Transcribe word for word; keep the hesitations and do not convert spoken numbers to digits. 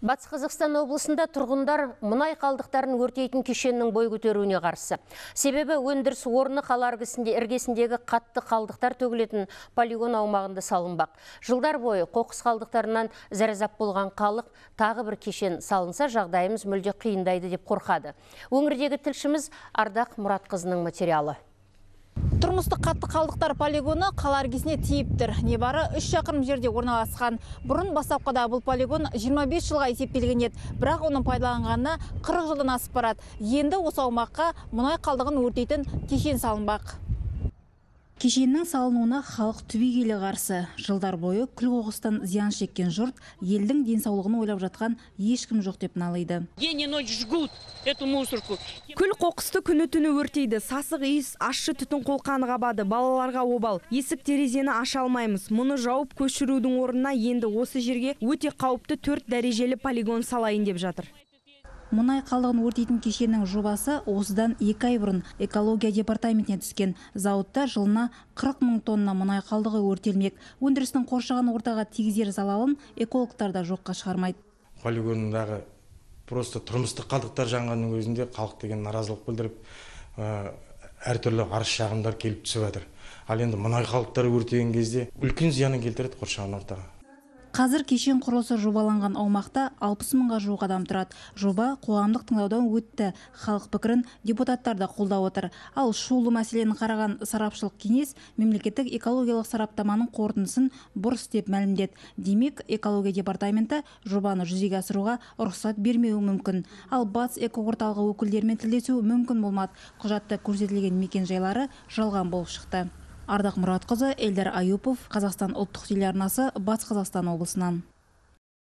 Батыс Қазақстан облысында тұрғындар мұнай қалдықтарын өртейтін кешеннің бой көтеруіне қарсы. Себебі өндіріс орны қала іргесіндегі қатты қалдықтар төгілетін полигон аумағында салынбақ. Жылдар бойы қоқыс қалдықтарынан зәрезап болған халық тағы бір кешен салынса, жағдайымыз мүлде қиындайды деп қорқады. Өңірдегі тілшіміз Ардақ Мұратқызының материалы. Тұрмыстық қатты қалдықтар полигоны қала іргесіне тиіп тұр. Небары үш шақырым жерде орналасқан. Бұрын бастапқыда бұл полигон жиырма бес жылға есептелген еді, бірақ оның пайдаланғанына қырық жылдан асып барады. Енді осы аумаққа мұнай қалдығын өртейтін кешен салынбақ. Кешеннің салынуына халық түбегейлі қарсы. Жылдар бойы күл-қоқыстан зиян шеккен жұрт елдің денсаулығын ойлап жатқан ешкім жоқ деп налиды. Күл-қоқысты күні-түні өртейді. Сасық иіс, ащы түтін қолқаны қабады. Балаларға обал. Есік терезені аша алмаймыз. Мұны жауып көшірудің орнына енді осы жерге өте қауіпті төрт дәрежелі полигон салайын деп жатыр. Мұнай қалдығын өртейтін кешеннің жобасы осыдан екі ай бұрын экология департаментіне түскен. Зауытта жылына қырық мың тонна мұнай қалдығы өртелмек. Өндірістің қоршаған ортаға тигізер залалын экологтар да жоққа шығармайды. Полигондағы просто тұрмыстық қалдықтар жанғанның өзінде халық деген наразылық білдіріп, әртүрлі арыз шағымдар келіп түсіп жатыр. Ал енді мұнай қалдықтары өртеген кезде үлкен зиянын келтіреді қоршаған ортаға. Қазір кешен құрылысы жобаланған аумақта алпыс мыңға жуық адам тұрады. Жоба қоғамдық тыңдаудан өтті. Халық пікірін депутаттар да қолдап отыр. Ал шулы мәселені қараған сарапшылық кеңес мемлекеттік экологиялық сараптаманың қорытындысын бұрыс деп мәлімдеді. Демек, экология департаменті жобаны жүзеге асыруға рұқсат бермеуі мүмкін. Ал Батыс экоорталығы өкілдерімен тілдесу мүмкін болмады. Құжатта көрсетілген мекен жайлары жалған болып шықты. Ардақ Мұратқызы, Эльдар Аюпов, Қазақстан ұлттық телеарнасы, Батыс Қазақстан облысынан.